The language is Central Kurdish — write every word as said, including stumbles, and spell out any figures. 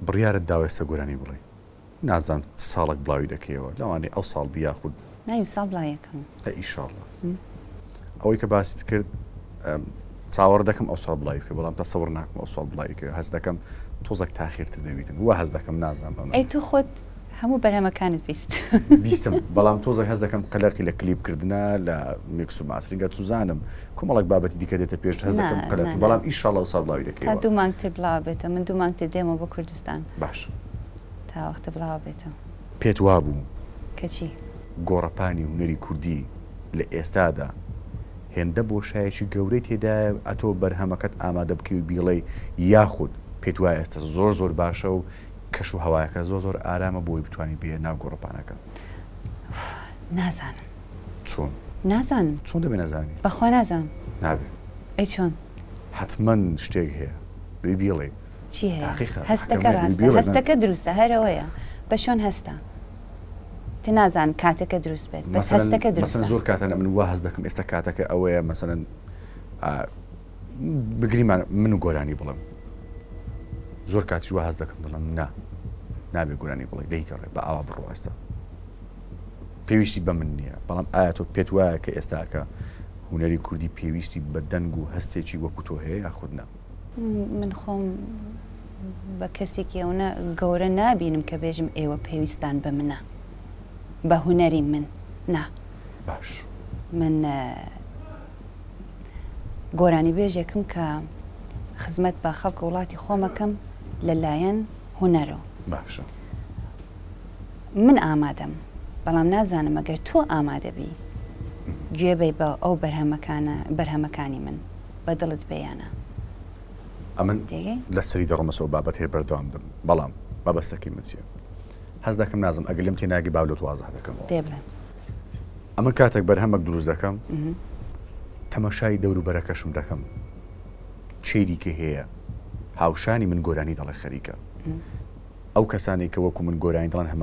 بڕیارت داوە ئێستا گۆرانی بڵێ، نازانم ساڵێک بڵاوی دەکەیەوە، لەوانەیە ئەو ساڵ بی یاخود نایم ساڵ بڵاویەکەم. ئیشاڵڵا. ئەوەی کە باست کرد چاوەڕ دەکەم ئەو ساڵ بڵاوی بکەی، بەڵام تەسەوڕ ناکەم ئەو ساڵ بڵاوی بکەی، هەست دەکەم تۆزێک تاخیرتر دەبیتن، وا هەست دەکەم نازانم ئەمە. ئەی تۆ خۆت هەموو بەرهەمەکانت بیست؟ بیستم، بەڵام تۆزێک هەست دەکەم قەلەقی لە کلیپکردنە، لە mix و mastering ە، چوزانم کۆمەڵێک بابەتی دیکە دێتە پێش، هەست دەکەم قەلەقی، بەڵام ئیشاڵڵا ئەو ساڵ بڵاوی دەکەیەوە. تا دوو مانگتر بڵاو بێتەوە، من دوو مانگتر دێمەوە بۆ کوردستان. باش. تا وەختە بڵاو بێتەوە. پێت وابوو کە چی؟ گۆڕەپانی هونەری کوردی لە ئێستادا هێندە بۆشایەکی گەورەی تێدایە ئەتۆ بەرهەمەکەت ئامادە بکەی و بیڵێی، یاخود پێت وایە ئێستا زۆر زۆر باشە و کەش و هەوایەکە زۆر زۆر ئارامە بۆی بتوانین بێ ناو گۆڕەپانەکە؟ نازانم. چۆن؟ نازانم. چۆن دەبێ نەزانی؟ بەخوا نازانم. نابێ. ئەی چۆن؟ حتمما شتێک هەیە بێ بیڵێ. چی هەیە؟ هەستەکە ڕاستە، هەستەکە دروستە، هەرەوەیە. بە شۆن هەستە؟ تە نازانم کاتەکە دروست بێت، بەس هەستەکە دروستە. مەسەلەن زۆر کاتەن من وا هەست دەکەم ئێستا کاتەکە ئەوەیە مەسەلەن بگریمان من و گۆرانی بڵێم، زۆر کاتیش وا هەست دەکەم دەڵێم نا نابێ گۆرانی بڵێ، لێی گەڕێ بە ئاوا بڕۆ، ئێستا پێویستی بە من نییە. بەڵام ئایا تۆ پێت وایە کە ئێستاکە هونەری کوردی پێویستی بە دەنگ و هەستێکی وەکو تۆ هەیە یاخود نا؟ من خۆم بە کەسێکی ئەوە گەورە نابینم کە بێژم ئێوە پێویستان بە منە، بە هونەری من نا. باش. من گۆرانی بێژێکم کە خزمەت بە خەڵک وڵاتی خۆمەکەم لەلایەن هونەرەوە. باشە. من ئامادەم، بەڵام نازانم ئەگەر تۆ ئامادە بی گوێ بەی بە ئەو بەرهەمەکانە، بەرهەمەکانی من بە دڵت بێیانە. ئەمن لەسەری دەڕۆمەسەوە بابەت هەیە بەردەوام دەبم، بەڵام مەبەستەکەی من چییە؟ هەست دەکەم نازم ئەگەر لێم تێناگەی باو لۆت وازح دەکەمەوە. دێ بڵێ. ئەمە کاتێک بەرهەمێک دروست دەکەم تەماشای دەوروبەرەکەشم دەکەم، چێری کە هەیە هاوشانی من گۆرانی دەڵێ خەریکە، ئەو کەسانێک کە وەکو من گۆرانی دەڵێن هەمان